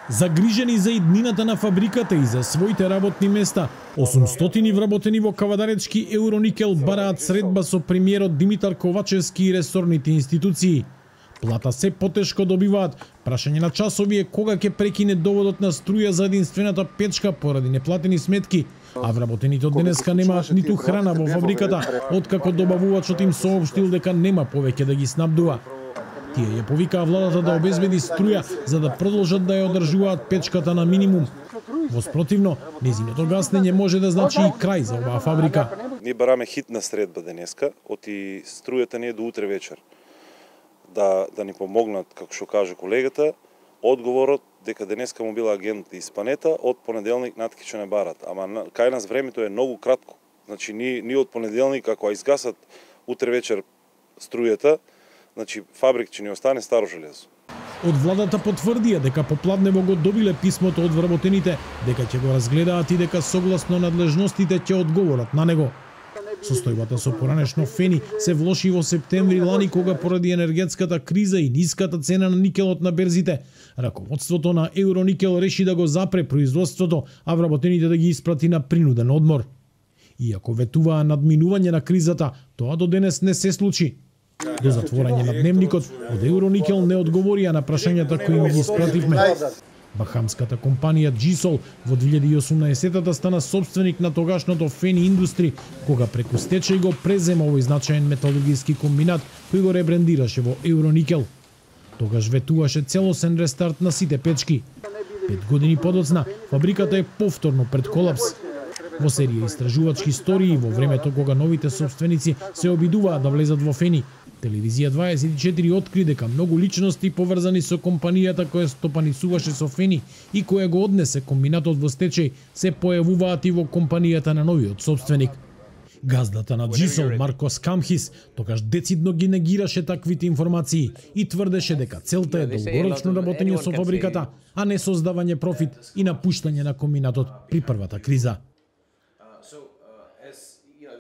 Загрижени за иднината на фабриката и за своите работни места, 800 вработени во Кавадаречки Евроникел бараат средба со премиерот Димитар Ковачевски и ресорните институции. Плата се потешко добиваат. Прашање на часови е кога ќе прекине доводот на струја за единствената печка поради неплатени сметки, а вработените од денеска немаат ниту храна во фабриката, откако добавувачот им соопштил дека нема повеќе да ги снабдува. Тие ја повикаа владата да обезбеди струја за да продолжат да ја одржуваат печката на минимум. Во спротивно, нејзиното гаснење може да значи и крај за оваа фабрика. Ние бараме хитна средба денеска, оти струјата не е до утре вечер. Да ни помогнат, како што каже колегата, одговорот дека денеска му била агент испанета, од понеделник наткиче не барат. Ама кај нас времето е многу кратко. Значи ние од понеделник, ако изгасат утре вечер струјата, значи фабрик ќе ни остане старо железо. Од владата потврдија дека попладнево го добиле писмото од вработените, дека ќе го разгледаат и дека согласно надлежностите ќе одговорат на него. Состојбата со поранешно фени се влоши во септември лани, кога поради енергетската криза и ниската цена на никелот на берзите, раководството на Евроникел реши да го запре производството, а вработените да ги испрати на принуден одмор. Иако ветуваа надминување на кризата, тоа до денес не се случи. До затворање на дневникот, од Евроникел не одговорија на прашањата кои им ги испративме. Бахамската компанија Джисол во 2018-та стана собственик на тогашното Фени Индустри, кога преку стечај го презема овој значаен металургиски комбинат кој го ребрендираше во Евроникел. Тогаш ветуваше целосен рестарт на сите печки. 5 години подоцна, фабриката е повторно пред колапс. Во серија истражувачки истории во времето кога новите собственици се обидуваат да влезат во Фени, Телевизија 24 откри дека многу личности поврзани со компанијата која стопанисуваше со Фени и која го однесе комбинатот во стечај се појавуваат и во компанијата на новиот собственик. Газдата на Джисол, Марко Скамхис, тогаш децидно ги негираше таквите информации и тврдеше дека целта е долгорочно работење со фабриката, а не создавање профит и напуштање на комбинатот при првата криза.